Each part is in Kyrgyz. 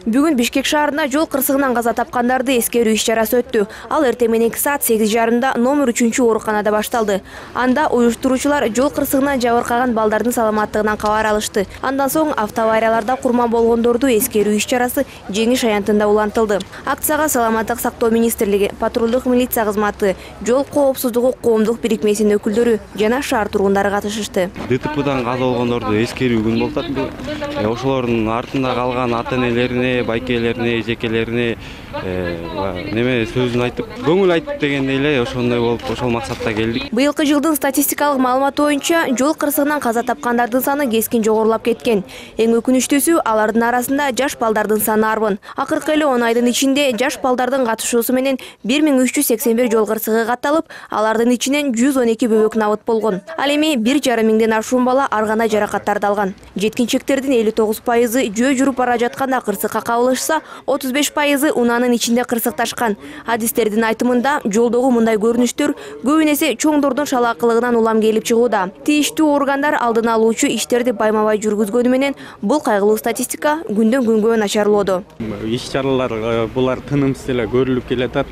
Бүгүн Бишкек шаарында жол кырсыгынан каза тапкандарды эскерүү иш-чарасы өттү. Ал эртең мененки саат 8:30 номер 3 ооруканада башталды. Анда уюштуруучулар жол кырсыгынан жабыркаган балдардын саламаттыгынан кабар алышты. Андан соң автоаварияларда курман болгондорду эскерүү иш-чарасы Жеңиш аянтында улантылды. Акцияга Саламаттык сактоо министрлиги, патрулдук милиция кызматы, жол коопсуздугу коомдук бирикмесинин өкүлдөрү жана шаар тургундары катышышты. ДТПдан каза болгондорду эскерүү күн болуп атат. Ошолордун артында калган ата-энелерине, байкелерине, жекелерине неме сөзүн айтып, көңүл айтып дегендей эле ошондой болуп, ошол максатта келдик. Быйылкы жылдын статистикалык маалыматы боюнча жол кырсыгынан каза тапкандардын саны кескин жогорулап кеткен. Эң өкүнүчтүүсү алардын арасында жаш балдардын саны арбын. Акыркы эле 10 айдын ичинде жаш балдардын катышуусу менен 1381 жол кырсыгы катталып, алардын ичинен 112 бөбөк набыт болгон. Ал эми 1,5 миңден ашуун бала ар кандай жаракаттарды алган. Жеткинчектердин 59% жөө жүрүп бара жатканда кырсыкка кабылышса, 35% унаанын ичинде кырсыкташкан. Адистердин айтымында жолдогу мындай көрүнүштөр көп эсе чоңдордун шалаакылыгынан улам келип чыгууда. Тийиштүү органдар алдын алуучу иштерди байма-бай жүргүзгөнү менен бул кайгылуу статистика күндөн күнгө начарлоодо. Иш-чаралар булар тынымсыз эле көрүлүп келатат.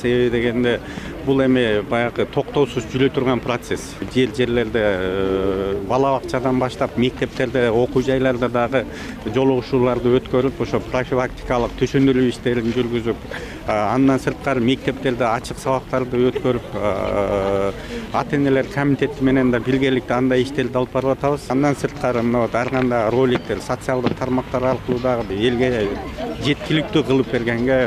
Себеби дегенде бул эми баягы токтоосуз жүрө турган процесс. Жерлерде бала бакчадан баштап мектептерде, окуу жайларда дагы жолугушууларды өткөрүп, ошо профилактикалык түшүндүрүү иштерин жүргүзүп, андан сырткары мектептерде ачык сабактарды өткөрүп, ата-энелер комитети менен да биргеликте андай иштерди алып барып атабыз. Андан сырткары ар кандай роликтер, социалдык тармактар аркылуу дагы элге жеткиликтүү кылып бергенге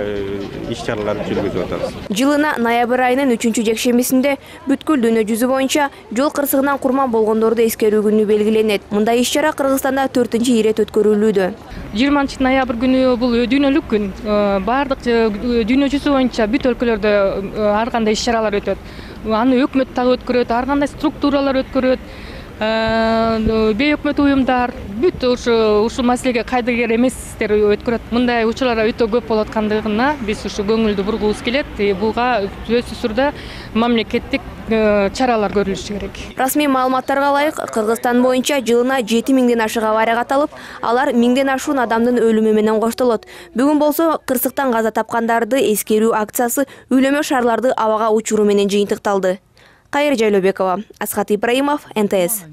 иш-чараларды жүргүзүп атабыз. Жылына ноябрь айынын 3-жекшембисинде бүткүл дүйнө жүзү боюнча жол кырсыгынан курман болгондорду эскерүү күнү белгиленет. Мындай иш-чара Кыргызстанда 4-ирет өткөрүлүүдө. 20 ноябрь күнү бул дүйнөлүк күн. Бардык дүйнө жүзү боюнча бүт өлкөлөрдө ар кандай иш-чаралар өтөт. Аны өкмөт дагы өткөрөт, ар кандай структуралар өткөрөт. Бейөкмөт уюмдар бүт ушул маселеге кайдыгер эместер өткөрөт. Мындай учурлар өтө көп болуп аткандыгына биз ушу көңүлдү бургубуз келет. Буга сөзсүз түрдө мамлекеттик чаралар көрүлүшү керек. Расмий маалыматтарга ылайык, Кыргызстан боюнча жылына 7 миңден ашык авария катталып, алар 1000ден ашуун адамдын өлүмү менен коштолот. Бүгүн болсо кырсыктан каза тапкандарды эскерүү акциясы үйлөмө шарларды абага учуруу менен жыйынтыкталды. Кайыр Жайлообекова, Асхат Ибраимов, НТС.